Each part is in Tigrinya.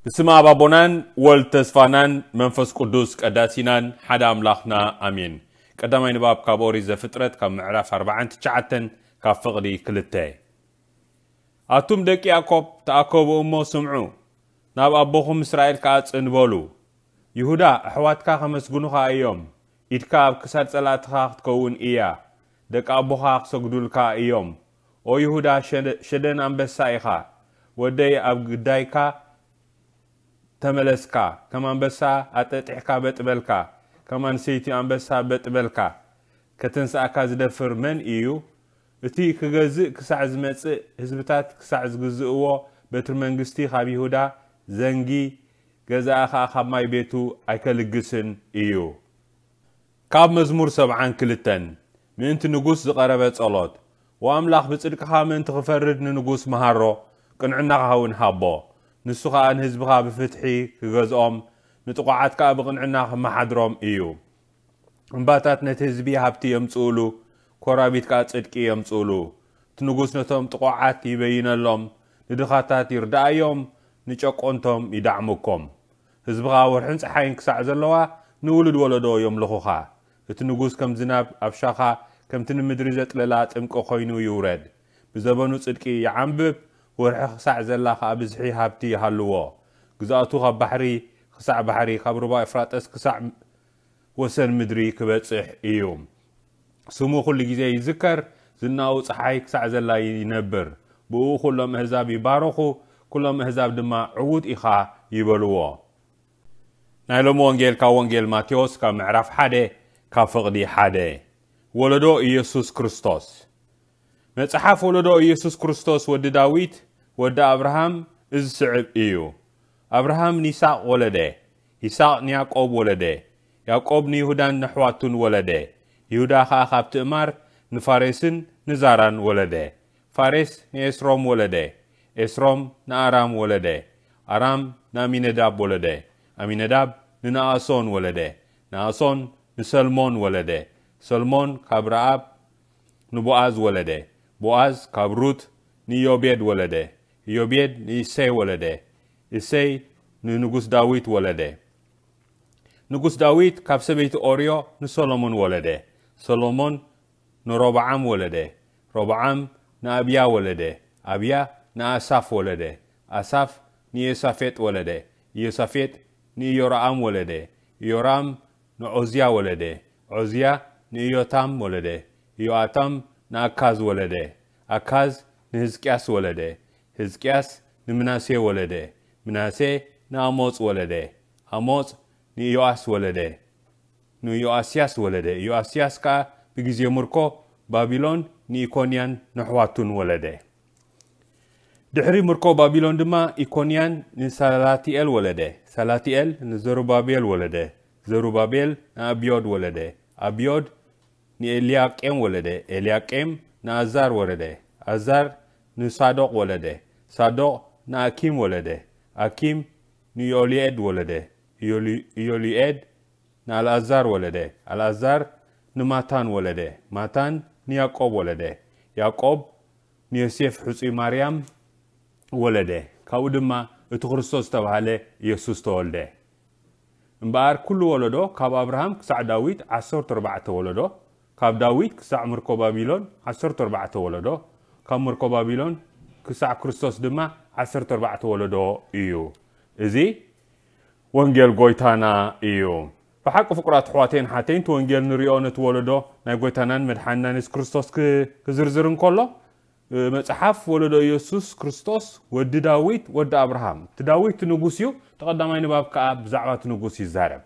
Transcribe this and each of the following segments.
ብስም ኣብ ኣቦናን ወልድ ተስፋናን መንፈስ ቅዱስ ቀዳሲናን ሓደ ኣምላኽና ኣሜን። ቀዳማይ ንባብ ካብ ኦሪት ዘፍጥረት ካብ ምዕራፍ ኣርባዓን ትሽዓተን ካብ ፍቕዲ ክልተ። ኣቱም ደቂ ያዕቆብ ተኣከቡ እሞ ስምዑ፣ ናብ ኣቦኹም እስራኤል ከኣ ጽን በሉ። ይሁዳ፣ ኣሕዋትካ ከመስግኑኻ እዮም፣ ኢድካ ኣብ ክሳድ ጸላእትኻ ክትከውን እያ፣ ደቂ ኣቦኻ ክሰግዱልካ እዮም። ኦ ይሁዳ፣ ሸደ-፣ ሸደን ኣንበሳ ኢኻ፣ ወደይ ኣብ ግዳይካ ተመለስካ፣ ከም ኣንበሳ ኣጠጢሕካ በጥ በልካ፣ ከም ኣንሰይቲ ኣንበሳ በጥ በልካ። ከተንስኣካ ዝደፍር መን እዩ? እቲ ክገዝእ ክሳዕ ዝመጽእ፣ ህዝብታት ክሳዕ ዝግዝእዎ፣ በትሪ መንግስቲ ካብ ይሁዳ ዘንጊ፣ ገዛኢ ኸኣ ካብ ማይ ቤቱ ኣይከልግስን እዩ። ካብ መዝሙር ሰብዓን ክልተን። ምእንቲ ንጉስ ዝቐረበ ጸሎት። ወኣምላኽ፣ ብጽድቅኻ ምእንቲ ክፈርድ ንንጉስ መሃሮ፣ ቅንዕናኻ እውን ሃቦ። ንሱ ኸኣ ንህዝብኻ ብፍትሒ ክገዝኦም፣ ንጥቑዓት ከኣ ብቕንዕና ክመሓድሮም እዩ። እምባታት ነቲ ህዝቢ ሃብቲ የምጽኡሉ፣ ኮራቢት ከኣ ጽድቂ የምጽኡሉ። እቲ ንጉስ ነቶም ጥቑዓት ይበይነሎም፣ ንድኻታት ይርድኣዮም፣ ንጨቆንቶም ይዳዕምኮም። ህዝብኻ ወርሕን ጸሓይን ክሳዕ ዘለዋ፣ ንውሉድ ወለዶ የምልኹኻ። እቲ ንጉስ ከም ዝናብ ኣብ ሻኻ፣ ከምቲ ንምድሪ ዘጥለላ ጥምቂ ኮይኑ ይውረድ። ብዘበኑ ጽድቂ ይዓንብብ፣ ወርሒ ክሳዕ ዘላ ኸኣ ብዝሒ ሃብቲ ይሃልዎ። ግዝኣቱ ካብ ባሕሪ ክሳዕ ባሕሪ፣ ካብ ሩባ ኤፍራጠስ ክሳዕ ወሰን ምድሪ ክበጽሕ እዩ። ስሙ ኩሉ ግዜ ይዝከር፣ ዝናኡ ጸሓይ ክሳዕ ዘላ ይነብር። ብእኡ ኩሎም ኣህዛብ ይባረኹ፣ ኩሎም ኣህዛብ ድማ ዕዉት ኢኻ ይበልዎ። ናይ ሎሚ ወንጌል ካብ ወንጌል ማቴዎስ ካብ ምዕራፍ ሓደ ካብ ፍቕዲ ሓደ። ወለዶ ኢየሱስ ክርስቶስ። መጽሓፍ ወለዶ ኢየሱስ ክርስቶስ ወዲ ዳዊት ወዲ ኣብርሃም እዚ ስዕብ እዩ። ኣብርሃም ንይስሐቅ ወለደ፣ ይስሐቅ ንያዕቆብ ወለደ፣ ያዕቆብ ንይሁዳን ነሕዋቱን ወለደ፣ ይሁዳ ኸኣ ካብ ትእማር ንፋሬስን ንዛራን ወለደ። ፋሬስ ንኤስሮም ወለደ፣ ኤስሮም ንኣራም ወለደ፣ ኣራም ንኣሚነዳብ ወለደ፣ ኣሚነዳብ ንነኣሶን ወለደ፣ ነኣሶን ንሰልሞን ወለደ፣ ሰልሞን ካብ ረኣብ ንቦኣዝ ወለደ፣ ቦኣዝ ካብ ሩት ንዮቤድ ወለደ፣ ዮቤድ ንእሴይ ወለደ፣ እሴይ ንንጉስ ዳዊት ወለደ። ንጉስ ዳዊት ካብ ሰበይቲ ኦርዮ ንሰሎሞን ወለደ፣ ሰሎሞን ንሮብዓም ወለደ፣ ሮብዓም ንኣብያ ወለደ፣ ኣብያ ንኣሳፍ ወለደ፣ ኣሳፍ ንዮሳፌጥ ወለደ፣ ዮሳፌጥ ንኢዮራኣም ወለደ፣ ኢዮራም ንዖዝያ ወለደ፣ ዖዝያ ንኢዮታም ወለደ፣ ኢዮኣታም ንኣካዝ ወለደ፣ ኣካዝ ንህዝቅያስ ወለደ፣ ህዝቅያስ ንምናሴ ወለደ፣ ምናሴ ንኣሞጽ ወለደ፣ ኣሞጽ ንኢዮኣስ ወለደ፣ ንኢዮኣስያስ ወለደ። ኢዮኣስያስ ከኣ ብግዜ ምርኮ ባቢሎን ንኢኮንያን ነሕዋቱን ወለደ። ድሕሪ ምርኮ ባቢሎን ድማ ኢኮንያን ንሳላትኤል ወለደ፣ ሳላትኤል ንዘሩባቤል ወለደ፣ ዘሩባቤል ንኣብዮድ ወለደ፣ ኣብዮድ ንኤልያቄም ወለደ፣ ኤልያቄም ንኣዛር ወለደ፣ ኣዛር ንሳዶቅ ወለደ፣ ሳዶቅ ንኣኪም ወለደ፣ ኣኪም ንዮልኤድ ወለደ፣ ዮሊ-፣ ዮልኤድ ንኣልኣዛር ወለደ፣ ኣልኣዛር ንማታን ወለደ፣ ማታን ንያዕቆብ ወለደ፣ ያዕቆብ ንዮሴፍ ሕጹይ ማርያም ወለደ፣ ካብኡ ድማ እቲ ክርስቶስ ዝተባህለ ኢየሱስ ተወልደ። እምበኣር ኩሉ ወለዶ ካብ ኣብርሃም ክሳዕ ዳዊት ዓሰርተ ኣርባዕተ ወለዶ፣ ካብ ዳዊት ክሳዕ ምርኮ ባቢሎን ዓሰርተ ኣርባዕተ ወለዶ፣ ካብ ምርኮ ባቢሎን ክሳዕ ክርስቶስ ድማ ዓሰርተ ኣርባዕተ ወለዶ እዩ። እዚ ወንጌል ጎይታና እዩ። ብሓቂ ፍቁራት ኣሕዋተይን ሓተይን፣ እቲ ወንጌል ንሪኦ ነቲ ወለዶ ናይ ጎይታናን መድሓንናን የሱስ ክርስቶስ ክ-፣ ክዝርዝር እንከሎ፣ እ፣ መጽሓፍ ወለዶ የሱስ ክርስቶስ ወዲ ዳዊት ወዲ ኣብርሃም፣ እቲ ዳዊት ንጉስ እዩ። እቲ ቀዳማይ ንባብ ከኣ ብዛዕባ እቲ ንጉስ ይዛረብ።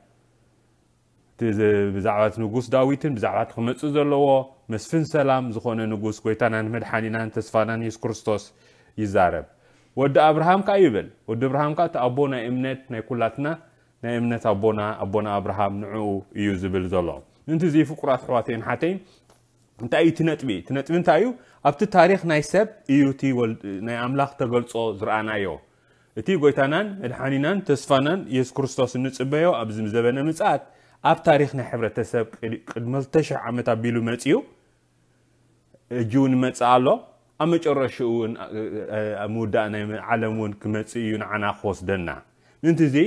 እቲ ዝ-፣ ብዛዕባ እቲ ንጉስ ዳዊትን ብዛዕባ እቲ ክመጽእ ዘለዎ መስፍን ሰላም ዝኾነ ንጉስ ጎይታናን መድሓኒናን ተስፋናን የሱስ ክርስቶስ ይዛረብ። ወዲ ኣብርሃም ከኣ ይብል። ወዲ ኣብርሃም ከኣ እቲ ኣቦ ናይ እምነት ናይ ኩላትና ናይ እምነት ኣቦና፣ ኣቦና ኣብርሃም ንዕኡ እዩ ዝብል ዘሎ። ምእንቲ እዚ ፍቁራት ኣሕዋተይን ሓተይን፣ እንታይ እዩ እቲ ነጥቢ? እቲ ነጥቢ እንታይ እዩ? ኣብቲ ታሪኽ ናይ ሰብ እዩ እቲ ወል-፣ ናይ ኣምላኽ ተገልጾ ዝረኣናዮ። እቲ ጎይታናን መድሓኒናን ተስፋናን የሱስ ክርስቶስ እንጽበዮ ኣብዚ ዘበነ ምጽኣት ኣብ ታሪኽ ናይ ሕብረተሰብ ቅድ-፣ ቅድሚ ክልተ ሽሕ ዓመት ኣቢሉ መጺኡ፣ ሕጂ እውን ይመጽእ ኣሎ። ኣብ መጨረሽኡ እውን፣ እ፣ እ፣ ኣብ ምውዳእ ናይ ዓለም እውን ክመጽእ እዩ ንዓና ክወስደና። ምእንቲ እዚ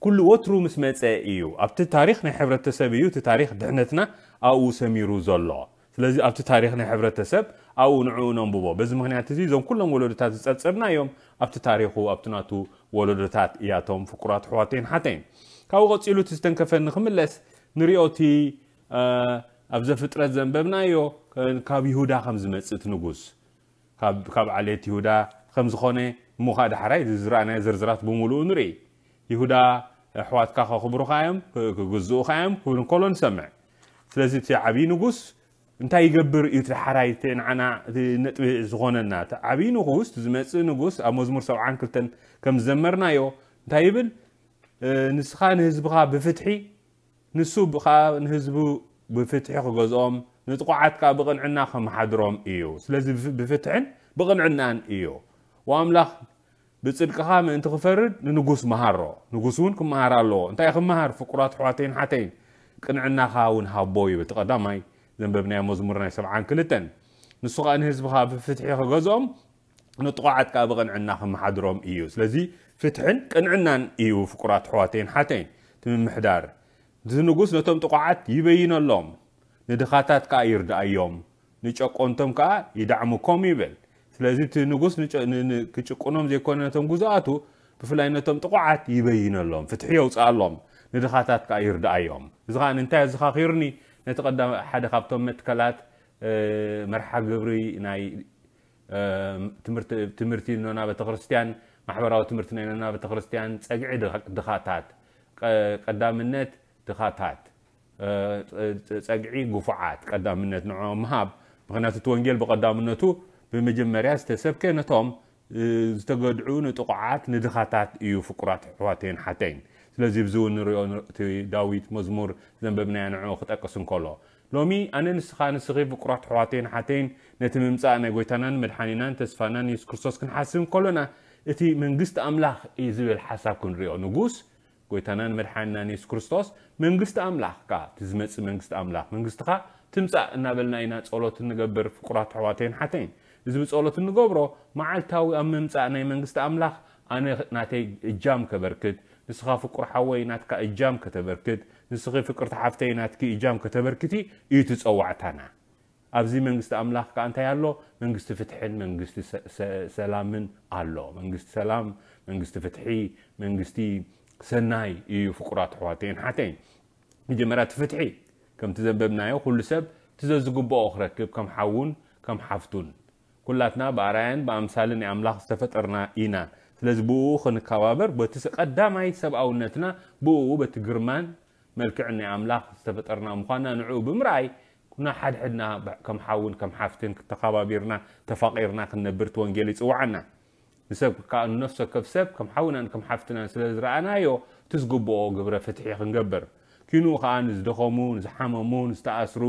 ኩሉ ወትሩ ምስ መጸ እዩ። ኣብቲ ታሪኽ ናይ ሕብረተሰብ እዩ እቲ ታሪኽ ድሕነትና ኣብኡ ሰሚሩ ዘሎ። ስለዚ ኣብቲ ታሪኽ ናይ ሕብረተሰብ ኣብኡ ንዕኡ ነንብቦ። በዚ ምኽንያት እዚ እዞም ኩሎም ወለዶታት ዝጸብጸብና እዮም ኣብቲ ታሪኹ ኣብቲ ናቱ ወለዶታት እያቶም ፍቁራት ኣሕዋተይን ሓተይን። ካብኡ ቀጺሉ እቲ ዝተንከፈኒ ክምለስ ንሪኦ እቲ ኣብ ዘፍጥረት ዘንበብናዮ ካብ ይሁዳ ከም ዝመጽእ እቲ ንጉስ ካብ ዓሌት ይሁዳ ከም ዝኾነ እሞ ከዓ ዳሕራይ ዝረኣናዮ ዝርዝራት ብምሉኡ ንርኢ። ይሁዳ ኣሕዋትካ ከኽብሩኻ እዮም፣ ክግዝኡኻ እዮም ክብል እንከሎ ንሰምዕ። ስለዚ እቲ ዓብዪ ንጉስ እንታይ ይገብር እዩ እቲ ዳሕራይ እቲ ንዓና እቲ ነጥቢ ዝኾነና? እቲ ዓብዪ ንጉስ፣ እቲ ዝመጽእ ንጉስ ኣብ መዝሙር ሰብዓን ክልተን ከም ዝዘመርናዮ እንታይ ይብል? ንስኻ ንህዝብኻ ብፍትሒ ንሱ ከዓ ንህዝቡ ብፍትሒ ክገዝኦም ንጥቑዓት ከዓ ብቕንዕና ከመሓድሮም እዩ። ስለዚ ብፍትሕን ብቕንዕናን እዩ። ወኣምላኽ ብጽድቅኻ ምእንቲ ክፈርድ ንንጉስ መሃሮ። ንጉስ እውን ክመሃር ኣለዎ። እንታይ ክመሃር? ፍቁራት ኣሕዋተይን ሓተይን ቅንዕናኻ እውን ሃቦ ይብል። እቲ ቀዳማይ ዘንበብናዮ መዝሙር ናይ ሰብዓን ክልተን። ንሱ ከዓ ንህዝብኻ ብፍትሒ ክገዝኦም ንጥቑዓት ከዓ ብቕንዕና ክመሓድሮም እዩ። ስለዚ ፍትሕን ቅንዕናን እዩ ፍቁራት ኣሕዋተይን ሓተይን እቲ ምምሕዳር። እቲ ንጉስ ነቶም ጥቑዓት ይበይነሎም፣ ንድኻታት ከዓ ይርድኣዮም፣ ንጨቆንቶም ከዓ ይዳዕምኮም ይብል። ስለዚ እቲ ንጉስ ክጭቁኖም ዘይኮነ ነቶም ግዙኣቱ ብፍላይ ነቶም ጥቑዓት ይበይነሎም፣ ፍትሒ የውፅኣሎም፣ ንድኻታት ከዓ ይርድኣዮም። እዚ ከዓ እንታይ ኣዘኻኺርኒ? ነቲ ቀዳም ሓደ ካብቶም መትከላት መርሓ ግብሪ ናይ ትምህርቲ ኖና ቤተክርስትያን ማሕበራዊ ትምህርቲ ናይ ኖና ቤተክርስትያን ጸግዒ ድኻታት ቀዳምነት ድኻታት ጸግዒ ግፉዓት ቀዳምነት ንዕኦም ምሃብ። ምክንያቱ እቲ ወንጌል ብቀዳምነቱ ብመጀመርያ ዝተሰብከ ነቶም ዝተገድዑ ንጥቑዓት ንድኻታት እዩ። ፍቁራት ኣሕዋተይን ሓተይን ስለዚ ብዚ እውን ንሪኦ እቲ ዳዊት መዝሙር ዘንበብናዮ ንዕኡ ክጠቅስ እንከሎ ሎሚ ኣነ ንስኻ ንስኺ ፍቁራት ኣሕዋተይን ሓተይን ነቲ ምምጻእ ናይ ጎይታናን መድሓኒናን ተስፋናን የሱስ ክርስቶስ ክንሓስብ እንከሎና እቲ መንግስቲ ኣምላኽ እዩ ዝብል ሓሳብ ክንሪኦ ንጉስ ጎይታናን መድሓኒናን የሱስ ክርስቶስ መንግስቲ ኣምላኽ ከኣ እቲ ዝመጽእ መንግስቲ ኣምላኽ መንግስትኻ ትምጻእ እናበልና ኢና ጸሎት እንገብር ፍቁራት ኣሕዋተይን ሓተይን እዚ ብጸሎት እንገብሮ መዓልታዊ ኣብ ምምጻእ ናይ መንግስቲ ኣምላኽ ኣነ ናተይ እጃም ከበርክት ንስኻ ፍቁር ሓወይ ናትካ እጃም ከተበርክት ንስኺ ፍቅርቲ ሓፍተይ ናትኪ እጃም ከተበርክቲ እዩ እቲ ጸዋዕታና። ኣብዚ መንግስቲ ኣምላኽ ከኣ እንታይ ኣሎ? መንግስቲ ፍትሕን መንግስቲ ሰላምን ኣሎ። መንግስቲ ሰላም፣ መንግስቲ ፍትሒ፣ መንግስቲ ሰናይ እዩ። ፍቁራት ኣሕዋተይን ሓተይን፣ መጀመርያ እቲ ፍትሒ ከምቲ ዘንበብናዮ ኩሉ ሰብ እቲ ዘዝግብኦ ክረክብ ከም ሓውን ከም ሓፍቱን ኩላትና ብኣርኣያን ብኣምሳልን ናይ ኣምላኽ ዝተፈጠርና ኢና። ስለዚ ብእኡ ክንከባበር በቲ ቀዳማይ ሰብኣውነትና ብእኡ በቲ ግርማን መልክዕን ናይ ኣምላኽ ዝተፈጠርና ምዃንና ንዕኡ ብምርኣይ ኩና ሓድሕድና ከም ሓውን ከም ሓፍትን ተኸባቢርና ተፋቒርና ክንነብር እቲ ወንጌል ይጽውዓና። ንሰብ ከዓ ንነፍሲ ወከፍ ሰብ ከም ሓውናን ከም ሓፍትናን ስለ ዝረኣናዮ እቲ ዝግብኦ ግብረ ፍትሒ ክንገብር ኪንኡ ከዓ ንዝደኸሙ ንዝሓመሙ ንዝተኣስሩ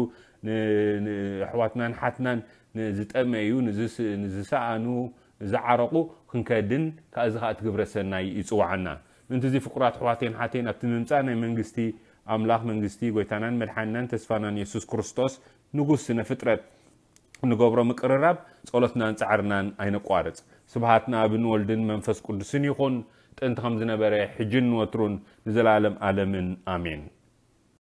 ኣሕዋትናን ሓትናን ንዝጠመዩ ንዝሰኣኑ ዝዓረቑ ክንከድን ከዚ ከዓ እቲ ግብረ ሰናይ ይፅዋዓና። ምእንቲ እዚ ፍቁራት ኣሕዋተይን ሓተይን ኣብቲ ምምፃእ ናይ መንግስቲ ኣምላኽ መንግስቲ ጎይታናን መድሓኒናን ተስፋናን የሱስ ክርስቶስ ንጉስ ስነ ፍጥረት እንገብሮ ምቅርራብ ጸሎትናን ጻዕርናን ኣይነቋርጽ። ስብሃት ንኣብን ወልድን መንፈስ ቅዱስን ይኹን ጥንቲ ከም ዝነበረ ሕጅን ንወትሩን ንዘለኣለም ኣለምን ኣሜን።